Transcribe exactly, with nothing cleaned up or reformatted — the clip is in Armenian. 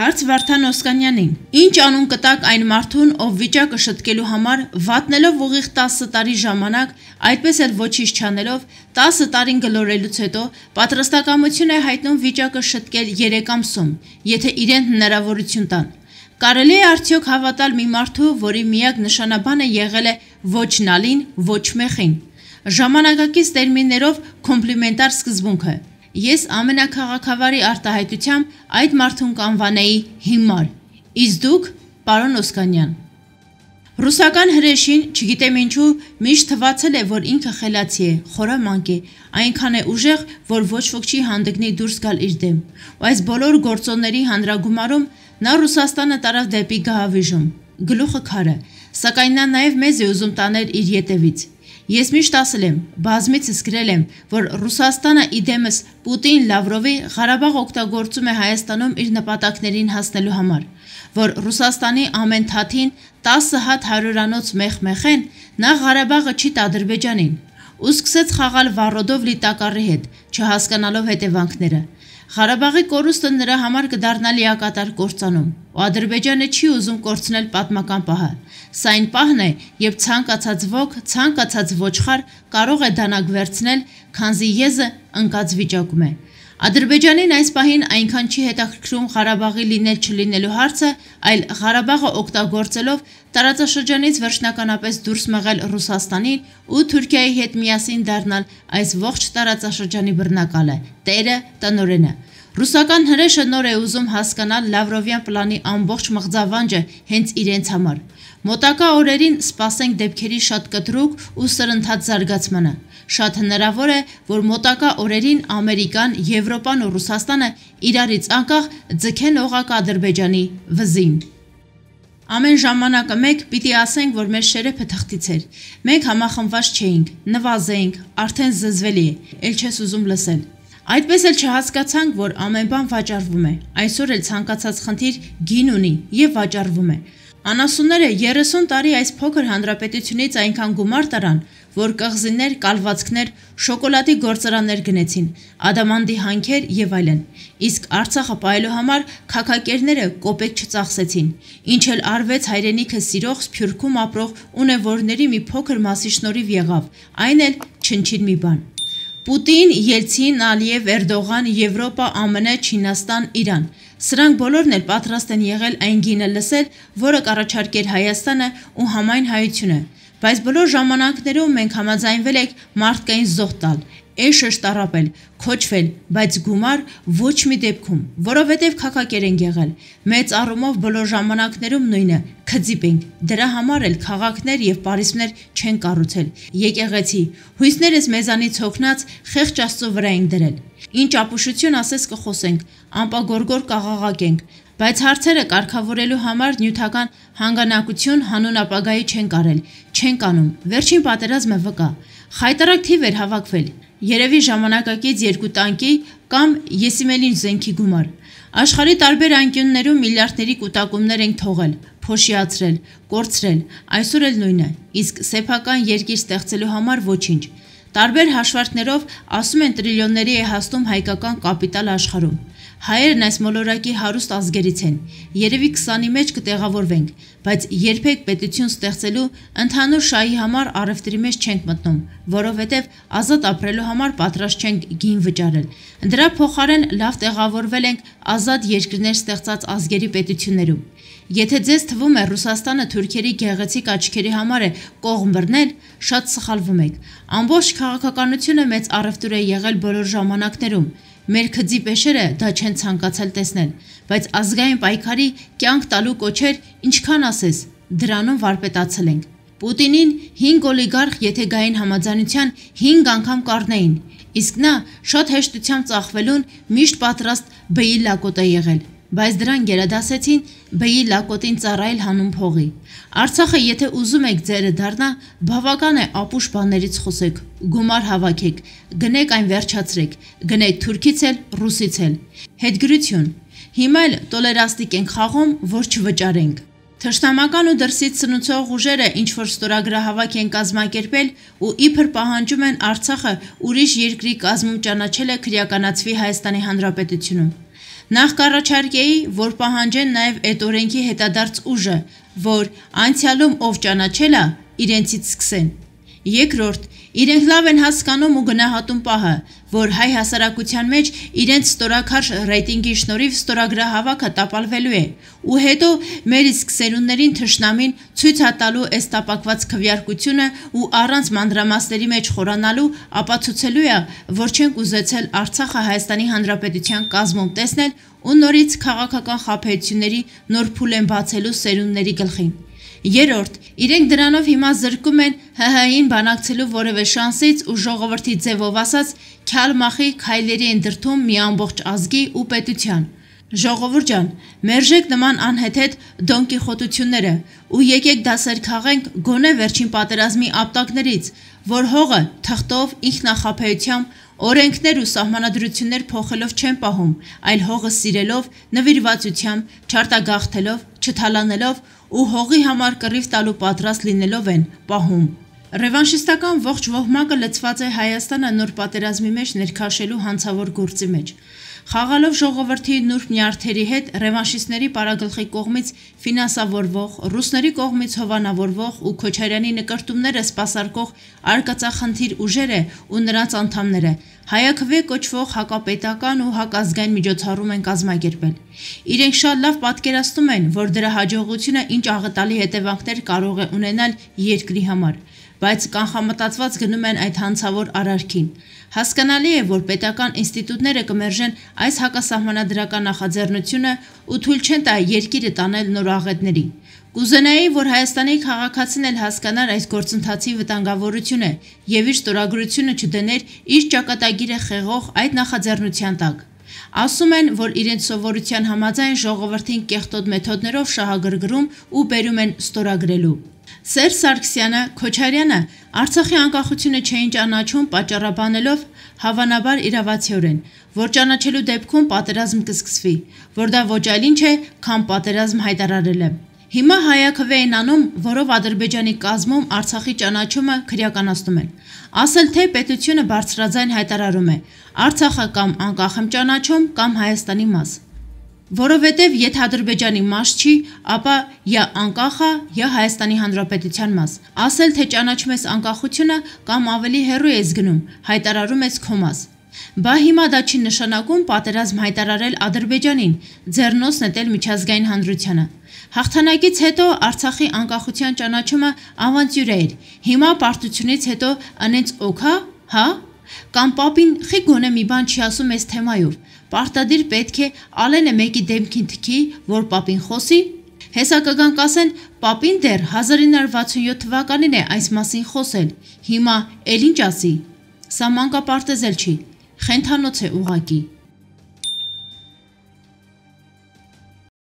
Հարց Վարդան Օսկանյանին. Ինչ անուն կտաք այն մարդուն, ով վիճակը շտկելու համար վատնելով ուղիղ տասը տարի ժամանակ, այդպես էլ ոչինչ չանելով, տասը տարին գլորելուց հետո պատրաստակամություն է հայտնում վիճակը շտկել երեք ամսում, եթե իրեն հնարավորություն տան։ Կարելի է արդյոք հավատալ մի մարդու, որի միակ նշանաբանը եղել է ոչ նալին, ոչ մեխին։ Ժամանակակից տերմիններով կոմպլիմենտար սկզբունքը։ Ես ամենաքաղաքավարի արտահայտությամբ այդ մարդուն կանվանեի հիմար։ Իսկ դուք, պարոն Օսկանյան։ Ռուսական հրեշին, չգիտեմ ինչու, միշտ թվացել է, որ ինքը խելացի է, խորամանկ է, այնքան է ուժեղ, որ ոչ ոք չի հանդգնի դուրս գալ իր դեմ։ Ու այս բոլոր գործոնների հանրագումարում նա Ռուսաստանը տարավ դեպի գահավիժում, գլուխը քարը, սակայն նա նաև մեզ է ուզում տանել իր ետևից։ Ես միշտ ասել եմ, բազմիցս գրել եմ, որ Ռուսաստանը իդեմս Պուտին Լավրովի Ղարաբաղ օգտագործում է Հայաստանում իր նպատակներին հասնելու համար, որ Ռուսաստանի ամեն թաթին տասը հատ հարյուրանոց մեխ-մեխեն նա Ղարաբաղը չի տա Ադրբեջանին, ու սկսեց խաղալ վառոդով լի տակառի հետ, չհասկանալով հետևանքները։ Ղարաբաղի կորուստը նրա համար կդառնա լիակատար կործանում, ու Ադրբեջանը չի ուզում կորցնել պատմական պահը։ Սա այն պահն է, երբ ցանկացած ոք, ցանկացած ոչխար կարող է դանակ վերցնել, քանզի եզը ընկած վիճակում է։ Ադրբեջանին այս պահին այնքան չի հետաքրքրում Ղարաբաղի լինել չլինելու հարցը, այլ Ղարաբաղը օգտագործելով տարածաշրջանից վերջնականապես դուրս մղել Ռուսաստանին ու Թուրքիայի հետ միասին դառնալ այս ողջ տարածաշրջանի բռնակալը, տերը, տնօրենը։ Ռուսական հրեշը նոր է ուզում հասկանալ Լավրովյան պլանի ամբողջ մղձավանջը հենց իրենց համար։ Մոտակա օրերին սպասենք դեպքերի շատ կտրուկ ու սրընթաց զարգացմանը։ Շատ հնարավոր է, որ մոտակա օրերին Ամերիկան, Եվրոպան ու Ռուսաստանը իրարից անկախ ձգեն օղակ Ադրբեջանի վզին։ Ամեն ժամանակը մեկ պիտի ասենք, որ մեր շերեփը թղթից էր։ Մենք համախմբված չէինք, նվազեինք, արդեն զզվելի է, ել չես ուզում լսել։ Այդպես էլ չհասկացանք, որ ամեն բան վաճառվում է։ Այսօր էլ ցանկացած խնդիր գին ունի եւ վաճառվում է։ Անասունները երեսուն տարի այս փոքր հանրապետությունից այնքան գումար տարան, որ կղզիներ, կալվածքներ, շոկոլադի գործարաններ գնեցին, ադամանդի հանքեր եւ այլն։ Իսկ Արցախը պահելու համար քաքակերները կոպեկ չծախսեցին, ինչ էլ արվեց հայրենիքը սիրող Սփյուռքում ապրող ունևորների մի փոքր մասի շնորհիվ եղավ, այն էլ չնչին մի բան։ Պուտին, Ելցին, Ալիև, Էրդողան, Եվրոպա, ԱՄՆ, Չինաստան, Իրան։ Սրանք բոլորն էլ պատրաստ են եղել այն գինը լսել, որը կառաջարկեր Հայաստանը ու համայն հայությունը։ Բայց բոլոր ժամանակներում մենք համաձայնվել ենք մարդկային զոհ տալ, էշը շտարապել, քոչվել, բայց գումար ոչ մի դեպքում, որովհետև քաքակեր ենք եղել։ Մեծ առումով բոլոր ժամանակներում նույնը, քծիպ ենք։ Դրա համար էլ քաղաքներ եւ պարիսպներ չեն կառուցել։ Եկեղեցի, հույսներս մեզանից հոգնած խեղճ Աստծո վրա ենք դրել։ Ինչ ապուշություն ասես կխոսենք, ամպագորգոր կաղաղակենք, բայց հարցերը կարգավորելու համար նյութական հանգանակություն հանուն ապագայի չեն կարել, չեն կանում։ Վերջին պատերազմը վկա։ Խայտարակ թիվ էր հավաքվել։ Երևի ժամանակակից երկու տանկի կամ եսիմելին զենքի գումար։ Աշխարհի տարբեր անկյուններում միլիարդների կուտակումներ ենք թողել, փոշիացրել, կորցրել, այսօր էլ նույնը, իսկ սեփական երկիր ստեղծելու համար ոչինչ։ Տարբեր հաշվարկներով ասում են տրիլիոնների է հասնում հայկական կապիտալ աշխարհում։ Հայերն այս մոլորակի հարուստ ազգերից են, երևի քսանի մեջ կտեղավորվենք, բայց երբեք պետություն ստեղծելու ընդհանուր շահի համար առևտրի մեջ չենք մտնում, որովհետև ազատ ապրելու համար պատրաստ չենք գին վճարել։ Դրա փոխարեն լավ տեղավորվել ենք ազատ երկրներ ստեղծած ազգերի պետություններում։ Եթե ձեզ թվում է Ռուսաստանը թուրքերի գեղեցիկ աչքերի համար է կողմ բռնել, շատ սխալվում եք։ Ամբողջ քաղաքականությունը մեծ առևտուր է եղել բոլոր ժամանակներում։ Մեր քծի պեշերը դա չեն ցանկացել տեսնել, բայց ազգային պայքարի կյանք տալու կոչեր ինչքան ասես, դրանում վարպետացել ենք։ Պուտինին հինգ օլիգարխ եթե գային համաձայնության հինգ անգամ կառնեին, իսկ նա շատ հեշտությամբ ծախվելուն միշտ պատրաստ բեի լակոտ է եղել, բայց դրան գերադասեցին բեի լակոտին ծառայել հանուն փողի։ Արցախը եթե ուզում եք ձերը դառնա, բավական է ապուշ բաներից խոսեք, գումար հավաքեք, գնեք այն վերջացրեք, գնեք թուրքից էլ, ռուսից էլ։ Հետգրություն։ Հիմա էլ տոլերաստիկ ենք խաղում, որ չվճարենք։ Թշնամական ու դրսից սնուցող ուժերը ինչ-որ ստորագրահավաք են կազմակերպել ու իբր պահանջում են Արցախը ուրիշ երկրի կազմում ճանաչելը քրեականացվի Հայաստանի Հանրապետությունում։ Նախ կառաջարկեի, որ պահանջեն նաև այդ օրենքի հետադարձ ուժը, որ անցյալում ով ճանաչել է, իրենցից սկսեն։ Երկրորդ, իրենք լավ են հասկանում ու գնահատում պահը, որ հայ հասարակության մեջ իրենց ստորաքարշ ռեյտինգի շնորհիվ ստորագրահավաքը տապալվելու է, ու հետո մեր իսկ սերունդներին թշնամին ցույց է տալու այս տապակված քվեարկությունը ու առանց մանրամասների մեջ խորանալու ապացուցելու է, որ չենք ուզեցել Արցախը Հայաստանի Հանրապետության կազմում տեսնել ու նորից քաղաքական խաբեությունների նոր փուլ են բացելու սերունդների գլխին։ Երորդ, իրենք դրանով հիմա զրկում են ՀՀ-ին բանակցելու որևէ շանսից ու ժողովրդի ձևով ասած քյալմախի քայլերի են դրդում մի ամբողջ ազգի ու պետության։ Ժողովուրդ ջան, մերժեք նման անհեթեթ դոնկիխոտությունները ու եկեք դասեր քաղենք գոնե վերջին պատերազմի ապտակներից, որ հողը թղթով, ինքնախաբեությամբ, օրենքներ ու սահմանադրություններ փոխելով չեն պահում, այլ հողը սիրելով, նվիրվածությամբ, չարտագաղթելով, չթալանելով ու հողի համար կռիվ տալու պատրաստ լինելով են պահում։ Ռևանշիստական ողջ ոհմակը լցված է Հայաստանը նոր պատերազմի մեջ ներքաշելու հանցավոր գործի մեջ։ Խաղալով ժողովրդի նուրբ նյարդերի հետ ռևանշիստների պարագլխի կողմից ֆինանսավորվող, ռուսների կողմից հովանավորվող ու Քոչարյանի նկրտումները սպասարկող արկածախնդիր ուժերը ու նրանց անդամները հայաքվե կոչվող հակապետական ու հակազգային միջոցառում են կազմակերպել։ Իրենք շատ լավ պատկերացնում են, որ դրա հաջողությունը ինչ աղետալի հետևանքներ կարող է ունենալ երկրի համար, բայց կանխամտածված գնում են այդ հանցավոր արարքին։ Հասկանալի է, որ պետական ինստիտուտները կմերժեն այս հակասահմանադրական նախաձեռնությունը ու թույլ չեն տա երկիրը տանել նոր աղետների։ Կուզենայի, որ Հայաստանի քաղաքացին էլ հասկանար այս գործընթացի վտանգավորությունը եւ իր ստորագրությունը չդներ իր ճակատագիրը խեղող այդ նախաձեռնության տակ։ Ասում են, որ իրենց սովորության համաձայն ժողովրդին կեղտոտ մեթոդներով շահագրգռում ու բերում են ստորագրելու։ Սերժ Սարգսյանը, Քոչարյանը Արցախի անկախությունը չէին ճանաչում պատճառաբանելով հավանաբար իրավացիորեն, որ ճանաչելու դեպքում պատերազմ կսկսվի, որ դա ոչ այլ ինչ է, քան պատերազմ հայտարարելը։ Հիմա հայաքվե են անում, որով Ադրբեջանի կազմում Արցախի ճանաչումը քրեականացնում են։ Ասել թե պետությունը բարձրաձայն հայտարարում է Արցախը կամ անկախ եմ ճանաչում, կամ Հայաստանի մաս։ Որովհետև եթե Ադրբեջանի մաս չի, ապա յա անկախ է, յա Հայաստանի Հանրապետության մաս։ Ասել թե ճանաչում ես անկախությունը կամ ավելի հեռու ես գնում, հայտարարում ես քո մաս։ Բա հիմա դա չի նշանակում պատերազմ հայտարարել Ադրբեջանին, ձեռնոց նետել միջազգային հանրությանը։ Հաղթանակից հետո Արցախի անկախության ճանաչումը ավանտյուրա էր։ Հիմա պարտությունից հետո անենց օքա, հա? Կամ պապին խի գոնե մի բան չի ասում այս թեմայով։ Պարտադիր պետք է Ալենը մեկի դեմքին թքի, որ պապին խոսի։ Հեսա կգան կասեն, պապին դեռ հազար ինը հարյուր վաթսունյոթ թվականին է այս մասին խոսել։ Հիմա էլ ինչ ասի։ Սա մանկապարտեզ էլ չի, խենթանոց է ուղակի։